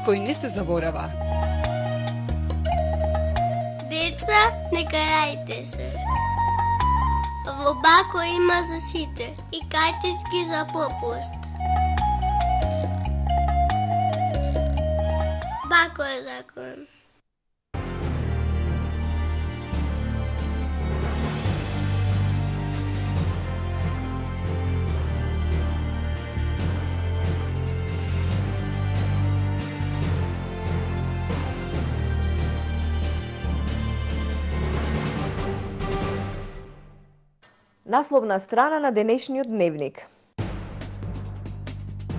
кој не се заборава. Деца, не карајте се. Во Бако има за сите и картички за попуст. Бако е закон. Насловна страна на денешниот дневник.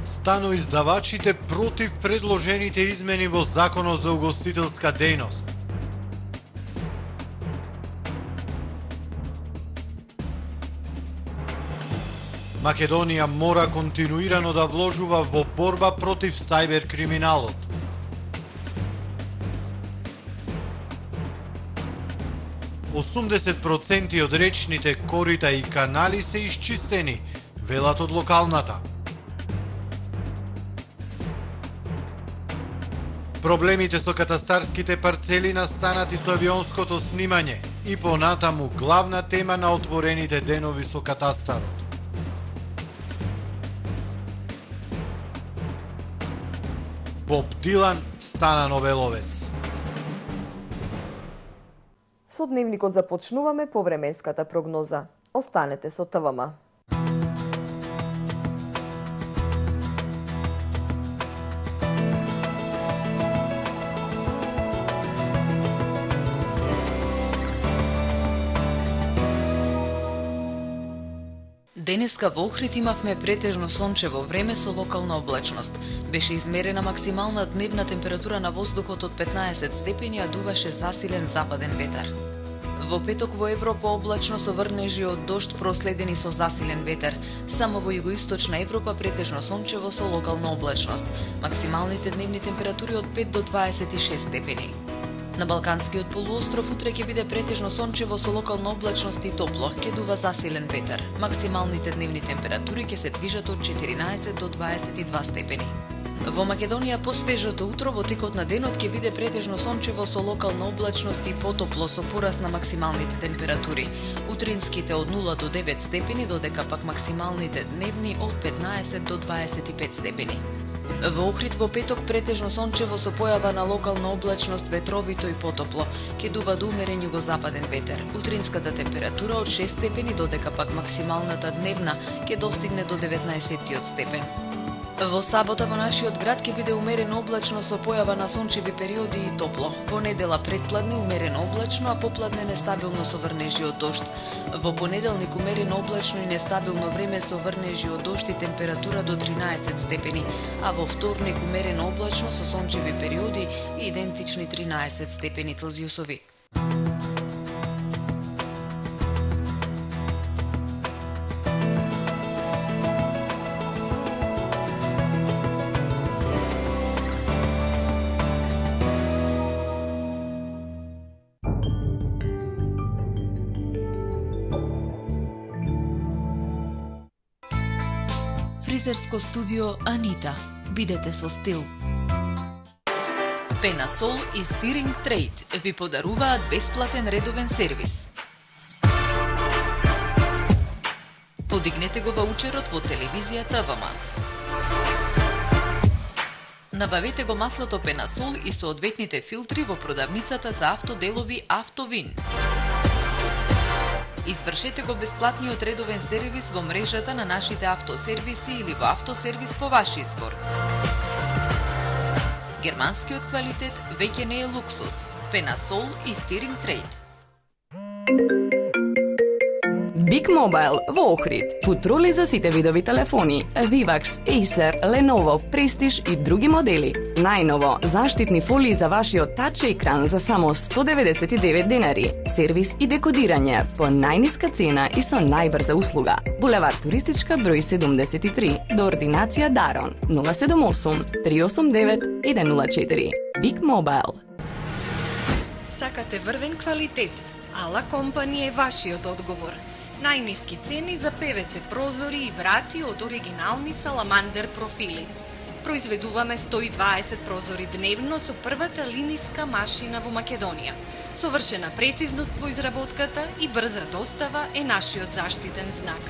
Станоиздавачите против предложените измени во Законот за угостителска дејност. Македонија мора континуирано да вложува во борба против сајбер криминалот. %80 од речните корита и канали се исчистени, велат од локалната. Проблемите со катастарските парцели настанати со авионското снимање и понатаму главна тема на отворените денови со катастарот. Боб Дилан стана Нобеловец. Со дневникот започнуваме по временската прогноза. Останете со ТВМ. Денеска во Охрид имавме претежно сончево време со локална облачност. Беше измерена максимална дневна температура на воздухот од 15 степени, а дуваше засилен западен ветар. Во петок во Европа облачно со врнежи од дожд проследени со засилен ветер. Само во југоисточна Европа претежно сончево со локална облачност. Максималните дневни температури од 5 до 26 степени. На Балканскиот полуостров утре ќе биде претежно сончево со локална облачност и топло, ќе дува засилен ветер. Максималните дневни температури ќе се движат од 14 до 22 степени. Во Македонија по свежото утро во текот на денот ќе биде претежно сончево со локална облачност и потопло со пораст на максималните температури. Утринските од 0 до 9 степени, додека пак максималните дневни од 15 до 25 степени. Во Охрид во петок претежно сончево со појава на локална облачност, ветровито и потопло. Ќе дува до умерен југозападен ветер. Утринската температура од 6 степени, додека пак максималната дневна ќе достигне до 19 степен. Во сабота во нашиот град ќе биде умерено облачно со појава на сончеви периоди и топло. Во недела предпладне умерено облачно, а попладне нестабилно со врнежи од дожд. Во понеделник умерено облачно и нестабилно време со врнежи од дожд и температура до 13 степени, а во вторник умерено облачно со сончеви периоди и идентични 13 степени Целзиусови. Фризерско студио Анита. Бидете со стил. Пенасол и Стиринг Трейд ви подаруваат бесплатен редовен сервис. Подигнете го ваучерот во телевизијата ТВМ. Набавете го маслото Пенасол и соодветните филтри во продавницата за автоделови Автовин. Извршете го бесплатниот редовен сервис во мрежата на нашите автосервиси или во автосервис по ваш избор. Германскиот квалитет веќе не е луксус. Пенасол и Стиринг Трейд. Big Mobile во Охрид. Футроли за сите видови телефони, Vivax, Acer, Lenovo, Prestige и други модели. Најново, заштитни фолии за вашиот тач екран за само 199 денари. Сервис и декодирање по најниска цена и со најбрза услуга. Булевар Туристичка број 73, до ординација Дарон 078 389 104. Big Mobile. Сакате врвен квалитет? Ала компанија е вашиот одговор. Најниски цени за ПВЦ прозори и врати од оригинални Саламандер профили. Произведуваме 120 прозори дневно со првата линиска машина во Македонија. Совршена прецизност во изработката и брза достава е нашиот заштитен знак.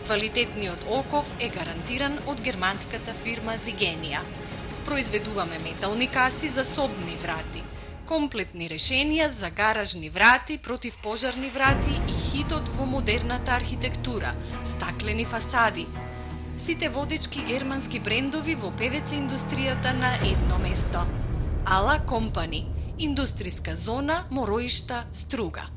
Квалитетниот оков е гарантиран од германската фирма Зигенија. Произведуваме метални каси за собни врати, комплетни решенија за гаражни врати, противпожарни врати и хитот во модерната архитектура, стаклени фасади. Сите водечки германски брендови во ПВЦ индустријата на едно место. Ала Компани, индустријска зона Мороишта, Струга.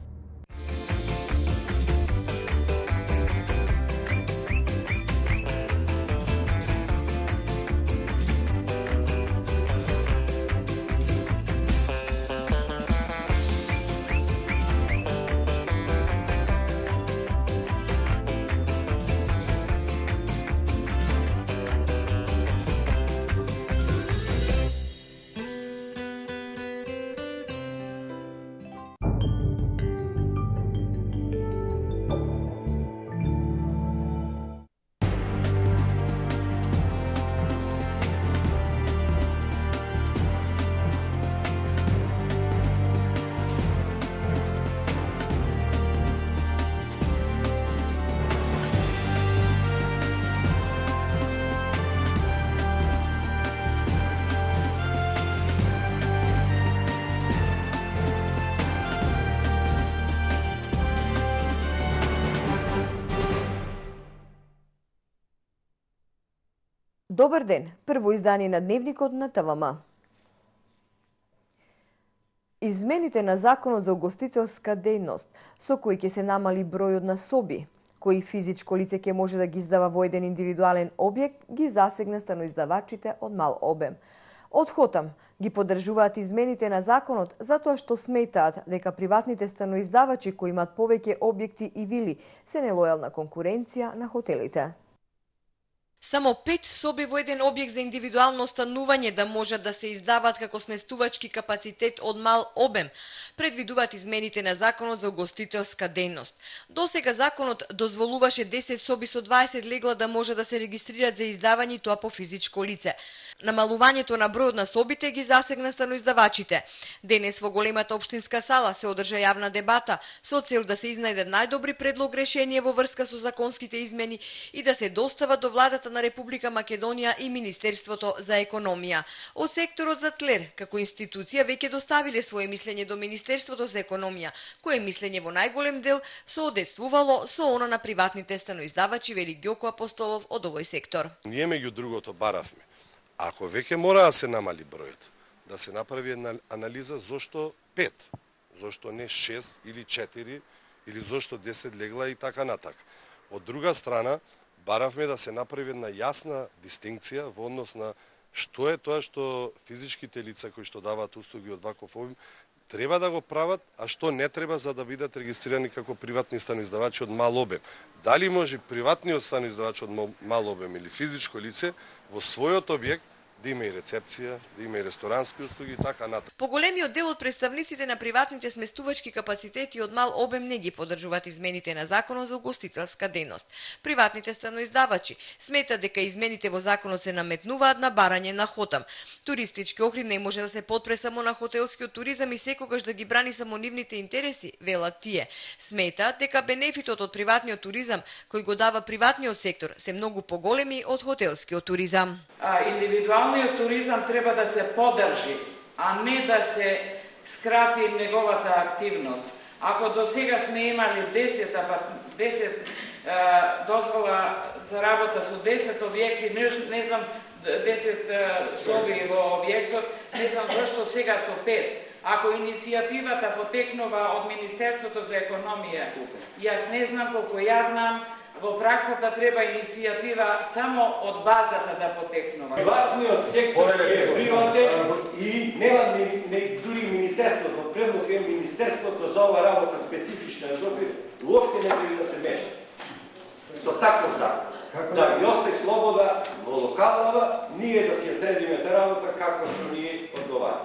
Добар ден, прво издание на Дневникот на ТВМ. Измените на Законот за угостителска дејност, со кои ќе се намали бројот на соби, кои физичко лице ќе може да ги издава во еден индивидуален објект, ги засегна станоиздавачите од мал обем. Од ХОТАМ ги поддржуваат измените на законот затоа што сметаат дека приватните станоиздавачи кои имаат повеќе објекти и вили се нелојална конкуренција на хотелите. Само 5 соби во еден објект за индивидуално станување да можат да се издаваат како сместувачки капацитет од мал обем, предвидуваат измените на Законот за угостителска дејност. Досега законот дозволуваше 10 соби со 20 легла да може да се регистрираат за издавање и тоа по физичко лице. Намалувањето на бројот на собите ги засегна станоиздавачите. Денес во големата општинска сала се одржа јавна дебата со цел да се изнајде најдобри предлог решение во врска со законските измени и да се достава до владата на Република Македонија и Министерството за економија. Од секторот за ТЛЕР, како институција, веќе доставиле свое мислење до Министерството за економија, кое мислење во најголем дел соодветствувало со она на приватните станоиздавачи, вели Ѓоко Апостолов од овој сектор. Ние меѓу другото баравме. Ако веќе мора да се намали бројот, да се направи една анализа зошто 5, зошто не 6 или 4 или зошто 10 легла и така натака. Од друга страна, баравме да се направи една јасна дистинкција во однос на што е тоа што физичките лица кои што даваат услуги од ваков обим треба да го прават, а што не треба за да бидат регистрирани како приватни станоиздавачи од мал обем. Дали може приватниот станоиздавач од мал обем или физичко лице во својот објект да има и рецепција, да има и ресторански услуги и така натаму. Поголемиот дел од представниците на приватните сместувачки капацитети од мал обем не ги поддржуваат измените на Законот за угостителска дејност. Приватните станоиздавачи сметаат дека измените во законот се наметнуваат на барање на ХОТАМ. Туристички Охрид не може да се подпре само на хотелскиот туризам и секогаш да ги брани само нивните интереси, велат тие. Сметаат дека бенефитот од приватниот туризам кој го дава приватниот сектор се многу поголеми од хотелскиот туризам. Индивидуалниот туризам треба да се поддржи, а не да се скрати неговата активност. Ако до сега сме имали 10 дозвола за работа со 10 објекти, не знам 10 соби во објектот, не знам зашто сега со 5. Ако иницијативата потекнува од Министерството за економија, јас не знам, колку јас знам, во праксата треба иницијатива само од базата да потекнува. Приватниот сектор е приватен и нема дури Министерството, предлог е Министерството за ова работа специфична Европа, уопште не треба да се меша. Со таков закон. Да ги остане слобода во локалава, ние да си ја средиме та работа како што ни одговара.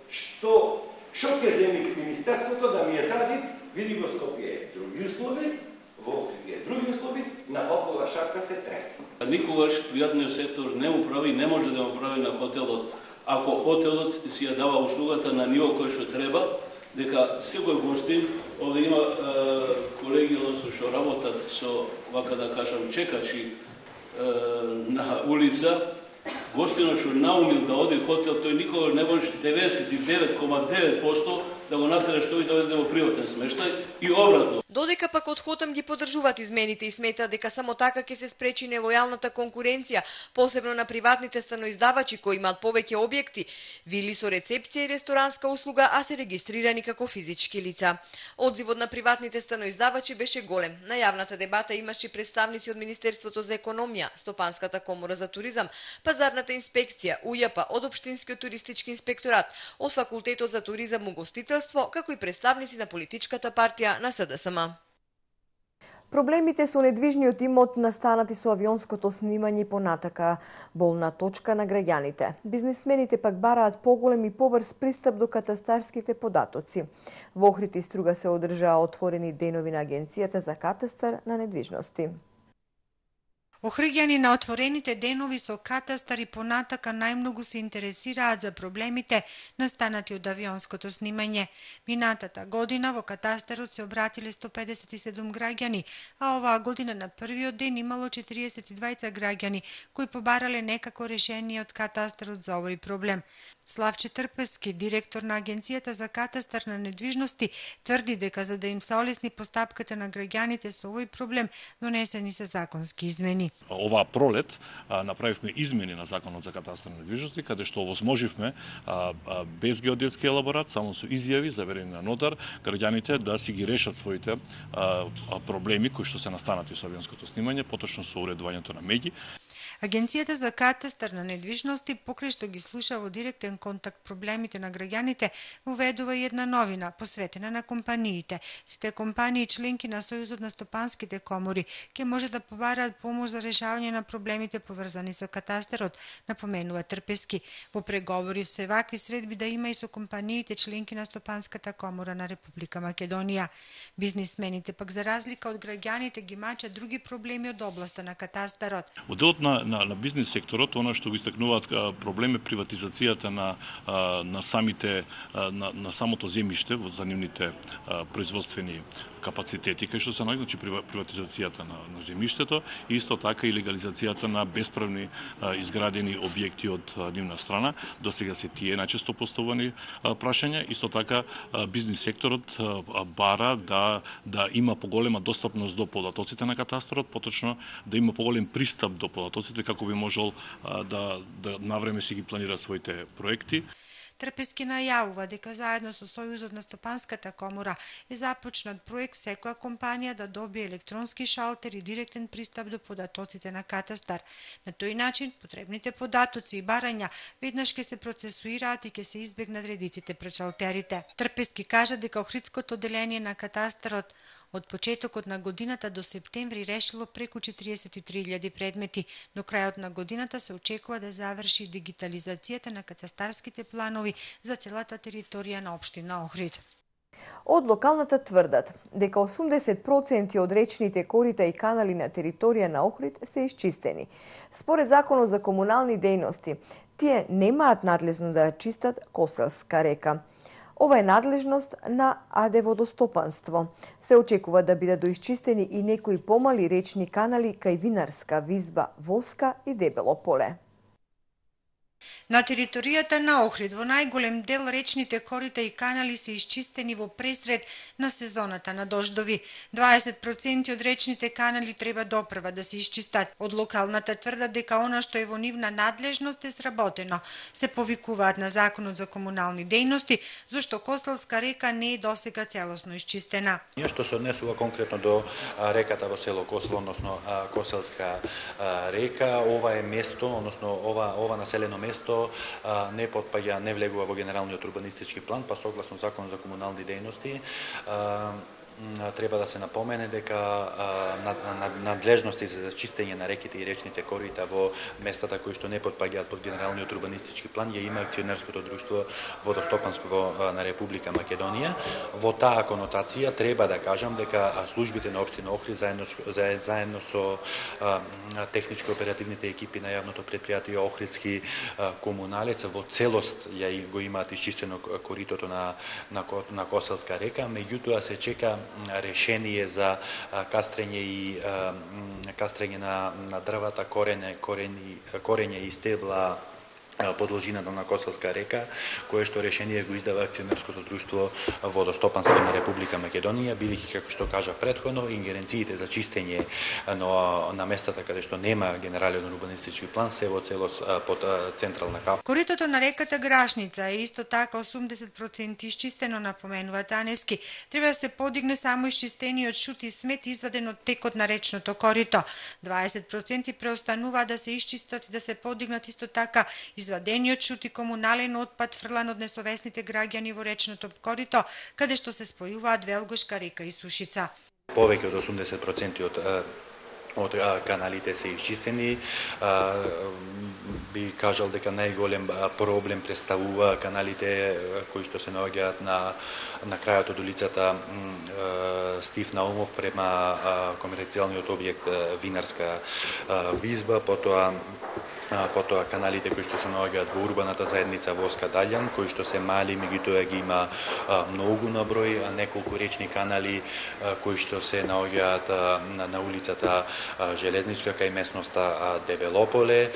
Што ќе земи Министерството да ми ја сради, види во Скопје други услови, во Охрид други услови, на попова шапка се трети. Никогаш приватниот сектор не му прави, не може да му прави на хотелот. Ако хотелот си ја дава услугата на ниво кој што треба, дека секој гостин, овде има колеги што работат со, вака да кажам, чекачи на улица, гостинот што наумил да оди хотел, тој никога не може 99,9% да го натераш тој да оди во приватен смештај и обратно. Додека пак од Хотам ги поддржуваат измените и сметаат дека само така ќе се спречи нелојалната конкуренција, посебно на приватните станоиздавачи кои имаат повеќе објекти, вили со рецепција и ресторанска услуга, а се регистрирани како физички лица. Одзивот на приватните станоиздавачи беше голем. На јавната дебата имаше представници од Министерството за економија, Стопанската комора за туризам, Пазарната инспекција, УЈП, од Општинскиот туристички инспекторат, од Факултетот за туризам и угостителство, како и представници на политичката партија на СДСМ. Проблемите со недвижниот имот настанати со авионското снимање понатака болна точка на граѓаните. Бизнисмените пак бараат поголем и побрз пристап до катастарските податоци. Во Охрид и Струга се одржаа отворени денови на Агенцијата за катастар на недвижности. Охриѓани на отворените денови со катастар и понатака најмногу се интересираат за проблемите настанати од авионското снимање. Минатата година во катастарот се обратиле 157 граѓани, а оваа година на првиот ден имало 42 граѓани кои побарале некако решение од катастарот за овој проблем. Славче Трпески, директор на Агенцијата за катастар на недвижности, тврди дека за да им се олесни постапката на граѓаните со овој проблем, донесени се законски измени. Оваа пролет направивме измени на Законот за катастар на недвижности, каде што овозможивме без геодетски елаборат, само со изјави заверени на нотар, граѓаните да си ги решат своите проблеми кои што се настанати со авионското снимање, поточно со уредувањето на меѓи. Агенцијата за катастар на недвижности, покрај што ги слуша во директен контакт проблемите на граѓаните, уведува и една новина посветена на компаниите. Сите компании членки на Сојузот на стопанските комори ќе може да побараат помош за решавање на проблемите поврзани со катастарот, напоменува Трпески. Во преговори се вакви средби да има и со компаниите членки на Стопанската комора на Република Македонија. Бизнисмените пак за разлика од граѓаните ги мачат други проблеми од областа на катастарот. Во делот на бизнис секторот, она што го истакнуваат проблем е приватизацијата на самото земјиште во за нивните производствени капацитети кај што се наоѓа, значи приватизацијата на земјиштето и исто така и легализацијата на бесправни изградени објекти од нивна страна. До сега се тие најчесто поставувани прашања. Исто така бизнис секторот бара да има поголема достапност до податоците на катастарот, поточно да има поголем пристап до податоците како би можел да навреме си ги планира своите проекти. Трпески најавува дека заедно со Сојузот на Стопанската комора е започнат проект секоја компанија да добие електронски шалтер и директен пристап до податоците на катастар. На тој начин потребните податоци и барања веднаш ќе се процесуираат и ќе се избегнат редиците пред шалтерите. Трпески кажа дека Охридското одделение на катастарот од почетокот на годината до септември решило преку 43.000 предмети. До крајот на годината се очекува да заврши дигитализацијата на катастарските планови за целата територија на општина Охрид. Од локалната тврдат дека 80% од речните корита и канали на територија на Охрид се изчистени. Според Законот за комунални дејности, тие немаат надлежност да ја чистат Коселска река. Ова е надлежност на АД Водостопанство. Се очекува да бидат доисчистени и некои помали речни канали кај Винарска, Визба, Воска и Дебело поле. На територијата на Охрид во најголем дел речните корита и канали се изчистени во пресред на сезоната на дождови. 20% од речните канали треба допрва да се изчистат. Од локалната тврда дека она што е во нивна надлежност е сработено. Се повикуваат на Законот за комунални дејности, зашто Коселска река не е досега целосно изчистена. Што се однесува конкретно до реката во село Косел, односно Коселска река, ова е место, односно ова населено место не влегува во генералниот урбанистички план, па согласно Закон за комунални дејности треба да се напомене дека надлежности за чистење на реките и речните корита во местата кои што не потпаѓаат под генералниот урбанистички план ја има акционерското друштво Водостопанство на Република Македонија. Во таа конотација треба да кажам дека службите на општина Охрид заедно со техничко оперативните екипи на јавното претпријатие Охридски комуналец во целост ја го имаат исчистено коритото на Коселска река, меѓутоа се чека решение за кастрење на дрвата, корење и стебла по должината на Коселска река, кое што решение го издава акционерското друштво Водостопанство на Република Македонија, бидејќи како што кажав претходно, ингеренциите за чистење на местата каде што нема генерален урбанистички план се во целост под централна кап. Коритото на реката Грашница е исто така 80% исчистено, напоменува Танески. Треба да се подигне само исчистениот шут и смет изваден од текот на речното корито. 20% преостанува да се исчистат и да се подигнат исто така извадениот шут и комунален отпад фрлан од несовесните граѓани во речното корито, каде што се спојуваат Велгошка река и Сушица. Повеќе од 80% од каналите се исчистени. Би кажал дека најголем проблем представува каналите кои што се наоѓаат на крајот од улицата Стив Наумов према комерцијалниот објект Винарска визба, потоа каналите кои што се наоѓаат во урбаната заедница Воска Далјан, кои што се мали, меѓутоа ги има многу на број, неколку речни канали кои што се наоѓаат на улицата Железничка кај местноста Девелополе,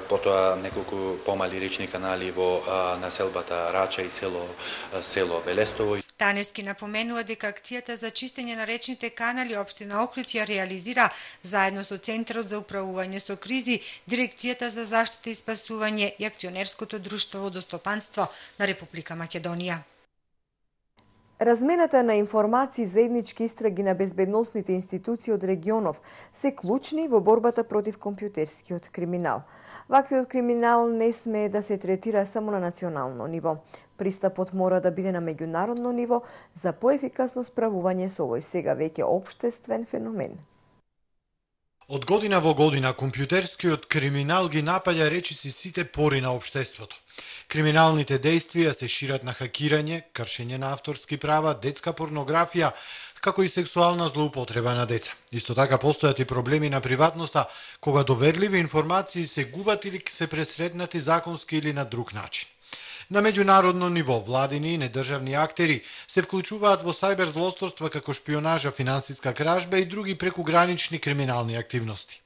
потоа неколку помали речни канали во населбата Рача и село Велестово. Танески напоменува дека акцијата за чистење на речните канали општина Охрид ја реализира заедно со Центарот за управување со кризи, Дирекцијата за заштита и спасување и акционерското друштво Водостопанство на Република Македонија. Размената на информации за заеднички истраги на безбедносните институции од регионов се клучни во борбата против компјутерскиот криминал. Ваквиот криминал не смее да се третира само на национално ниво. Пристапот мора да биде на меѓународно ниво за поефикасно справување со овој сега веќе општествен феномен. Од година во година компјутерскиот криминал ги напаѓа речиси сите пори на општеството. Криминалните дејствија се шират на хакирање, кршење на авторски права, детска порнографија, како и сексуална злоупотреба на деца. Исто така постојат и проблеми на приватноста, кога доверливи информации се губат или се пресретнати законски или на друг начин. На меѓународно ниво, владини и недржавни актери се вклучуваат во сајбер злосторства како шпионажа, финансиска кражба и други прекугранични криминални активности.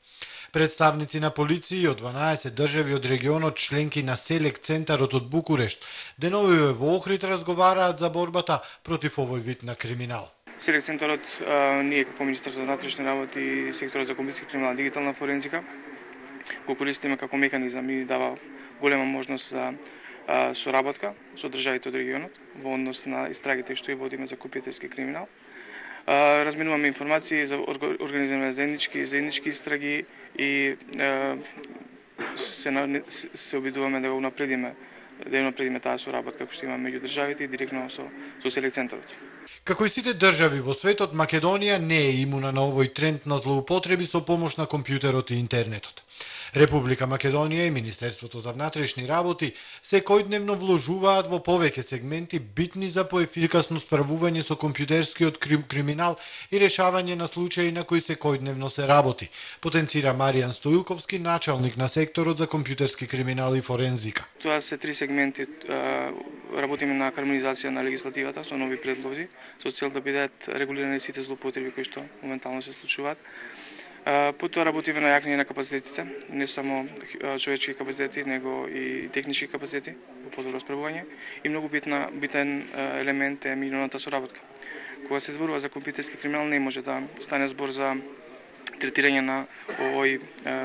Представници на полиции од 12 држави од регионот, членки на Селек Центарот од Букурешт, деновиве во Охрид разговараат за борбата против овој вид на криминал. Селек Центарот, ние како Министерство за внатрешни работи и секторот за компјутерски криминал и дигитална форензика го користиме како механизам и дава голема можност за соработка со државите од регионот во однос на истрагите што и водиме за компјутерски криминал. Разменуваме информации за организиране заеднички истраги и се обидуваме да го унапредиме таа соработка која што имаме меѓу државите и директно со Селек Центарот. Како и сите држави во светот, Македонија не е имуна на овој тренд на злоупотреби со помош на компјутерот и интернетот. Република Македонија и Министерството за внатрешни работи секојдневно вложуваат во повеќе сегменти битни за поефикасно справување со компјутерскиот криминал и решавање на случаи на кои секојдневно се работи, потенцира Маријан Стоилковски, началник на секторот за компјутерски криминал и форензика. Тоа се три сегменти. Работиме на хармонизација на легислативата со нови предлози, со цел да бидат регулирани сите злоупотреби кои што моментално се случуваат. Потоа работиме на јакнење на капацитетите, не само човечки капацитети, него и технички капацитети во подобро справување. И многу битен елемент е меѓународната соработка. Кога се зборува за компјутерски криминал, не може да стане збор за третирање на овој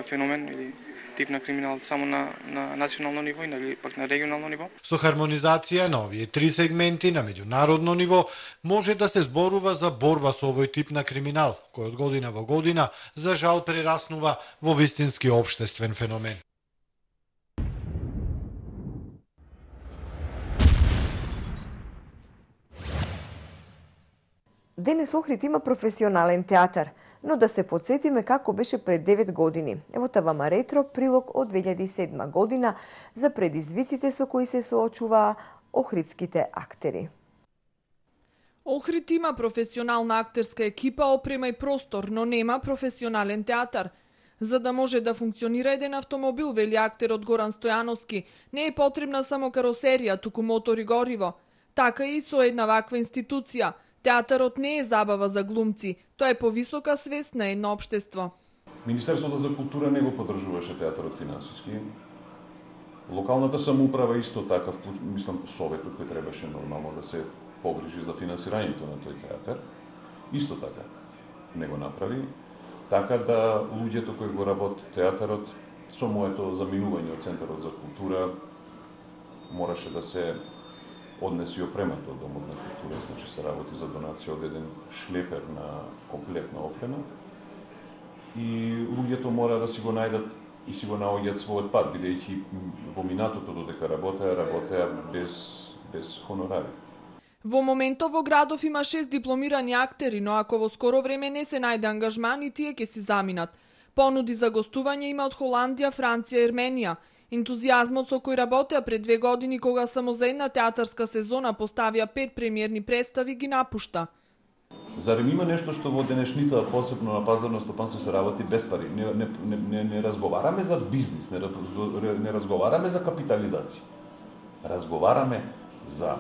феномен или тип на криминал само на национално ниво или пак на регионално ниво. Со хармонизација на овие три сегменти на меѓународно ниво може да се зборува за борба со овој тип на криминал, кој од година во година за жал прераснува во вистински општествен феномен. Денес Охрид има професионален театар, но да се подсетиме како беше пред 9 години. Ево ТВ Ретро прилог од 2007 година за предизвиците со кои се соочуваа охридските актери. Охрид има професионална актерска екипа, опрема и простор, но нема професионален театар. За да може да функционира еден автомобил, вели актерот Горан Стојановски, не е потребна само каросерија, туку мотор и гориво. Така и со една ваква институција. Театарот не е забава за глумци, тоа е повисока свест на едно општество. Министерството за култура не го поддржуваше театарот финансиски. Локалната самоуправа исто така, мислам, советот кој требаше нормално да се погрижи за финансирањето на тој театар, исто така не го направи, така да луѓето кои го работат театарот со моето заминување од Центарот за култура мораше да се однеси опремата од Домот на култура, значи се работи за донација од еден шлепер на комплетна опрема и луѓето мора да си го најдат и си го наоѓаат својот пат, бидејќи во минатото додека работеа без хонорари. Во моментов во градов има 6 дипломирани актери, но ако во скоро време не се најде ангажман и тие ќе си заминат. Понуди за гостување има од Холандија, Франција и Ерменија. Ентузијазмот со кој работеа пред 2 години кога само за една театарска сезона поставија 5 премиерни представи ги напушта. Зарем има нешто што во денешница, посебно на пазарно стопанство, се работи без пари? Не разговараме за бизнис, не разговараме за капитализација. Разговараме за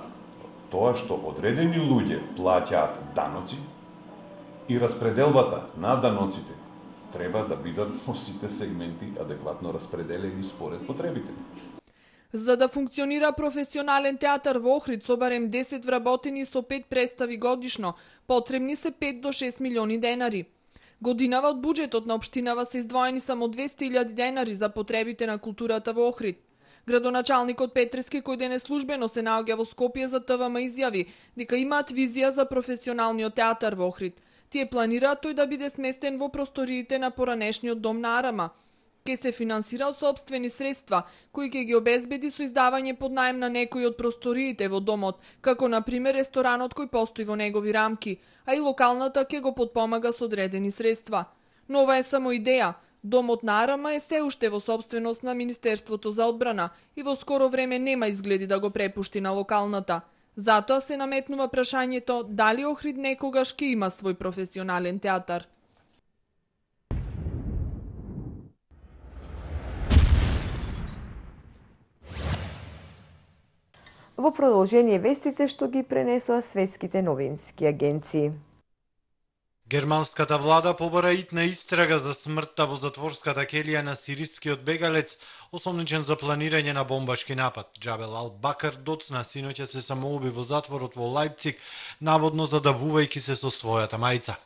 тоа што одредени луѓе плаќаат даноци и распределбата на даноците треба да бидат во сите сегменти адекватно распределени според потребите. За да функционира професионален театар во Охрид со барем 10 вработени со 5 представи годишно, потребни се 5 до 6 милиони денари. Годинава од буџетот на општинава се издвоени само 200.000 денари за потребите на културата во Охрид. Градоначалникот Петрески, кој денес службено се наоѓа во Скопје за ТВМ, изјави дека имаат визија за професионалниот театар во Охрид. Тие планираат тој да биде сместен во просториите на поранешниот дом на Арама. Ке се финансира од сопствени средства, кои ќе ги обезбеди со издавање под наем на некои од просториите во домот, како на пример ресторанот кој постои во негови рамки, а и локалната ќе го подпомага со одредени средства. Но ова е само идеја. Домот на Арама е се уште во сопственост на Министерството за одбрана и во скоро време нема изгледи да го препушти на локалната. Затоа се наметнува прашањето дали Охрид некогаш ќе има свој професионален театар. Во продолжение вестите што ги пренесоа светските новински агенции. Германската влада побара итна истрага за смртта во затворската келија на сирискиот бегалец, осомничен за планирање на бомбашки напад. Џабел Ал-Бакар доцна синоќа се самоуби во затворот во Лајпциг, наводно задавувајќи се со својата мајца.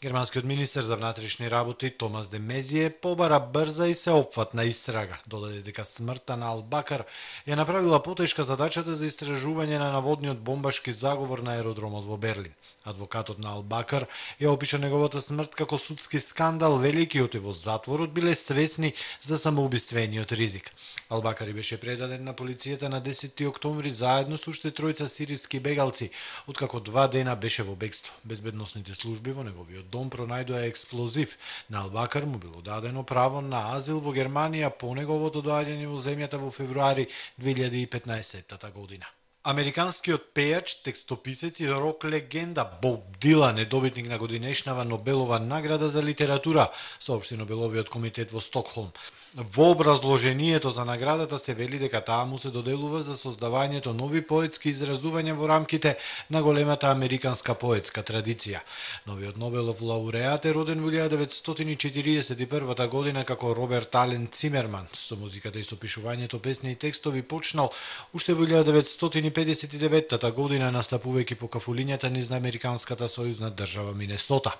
Германскиот министер за внатрешни работи Томас де Мезие побара брза и сеопфатна истрага. Додаде дека смртта на Ал-Бакар ја направила потешка задачата за истражување на наводниот бомбашки заговор на аеродромот во Берлин. Адвокатот на Ал-Бакар ја опиша неговата смрт како судски скандал, велики оти во затворот биле свесни за самоубиствениот ризик. Ал-Бакари беше предаден на полицијата на 10 октомври заедно со уште тројца сириски бегалци, откако 2 дена беше во бегство. Безбедносните служби во неговиот дом пронајдоа експлозив. На Ал-Бакар му било дадено право на азил во Германија по неговото доаѓање во земјата во февруари 2015 година. Американскиот пејач, текстописец и рок легенда Боб Дилан е добитник на годинешнава Нобелова награда за литература, соопшти Нобеловиот комитет во Стокхолм. Во образложението за наградата се вели дека таа му се доделува за создавањето нови поетски изразувања во рамките на големата американска поетска традиција. Новиот Нобелов лауреат е роден во 1941 година како Роберт Ален Цимерман. Со музиката и со пишувањето песни и текстови почнал уште во 1959 година, настапувајќи по кафулињата низ американската сојузна држава Минесота.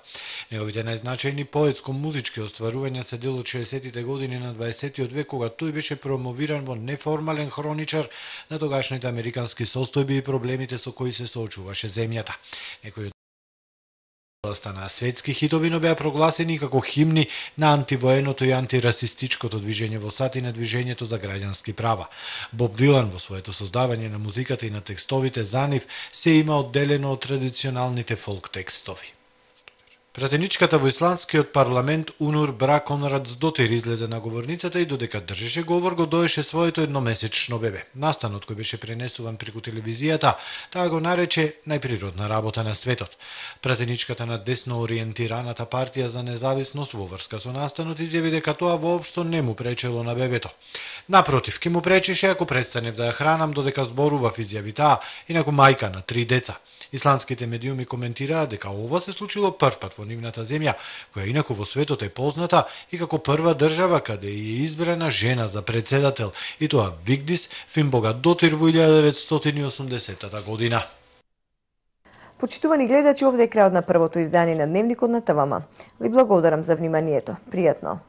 Неговите најзначајни поетско-музички остварувања се дел од 60-тите години на 20 век, кога тој беше промовиран во неформален хроничар на тогашните американски состојби и проблемите со кои се соочуваше земјата. Некои областа на светски хитови, но беа прогласени како химни на антивоеното и антирасистичкото движење во САД и на движењето за граѓански права. Боб Дилан во своето создавање на музиката и на текстовите за нив се има одделено од традиционалните фолк текстови. Пратеничката во исландскиот парламент Унур Браконрадсдотир излезе на говорницата и додека држеше говор го доеше своето едномесечно бебе. Настанот кој беше пренесуван преку телевизијата, таа го нарече најприродна работа на светот. Пратеничката на десно ориентираната партија за независност во врска со настанот изјави дека тоа воопшто не му пречело на бебето. Напротив, ке му пречеше ако престанев да ја хранам, додека зборував, изјави таа, инаку мајка на 3 деца. Исландските медиуми коментираа дека ова се случило првпат во нивната земја, која инаку во светот е позната и како прва држава каде е избрана жена за председател, и тоа Вигдис Финбогадотир во 1980 година. Почитувани гледачи, овде е крајот на првото издание на Дневникот на ТВМ. Ви благодарам за вниманието. Пријатно!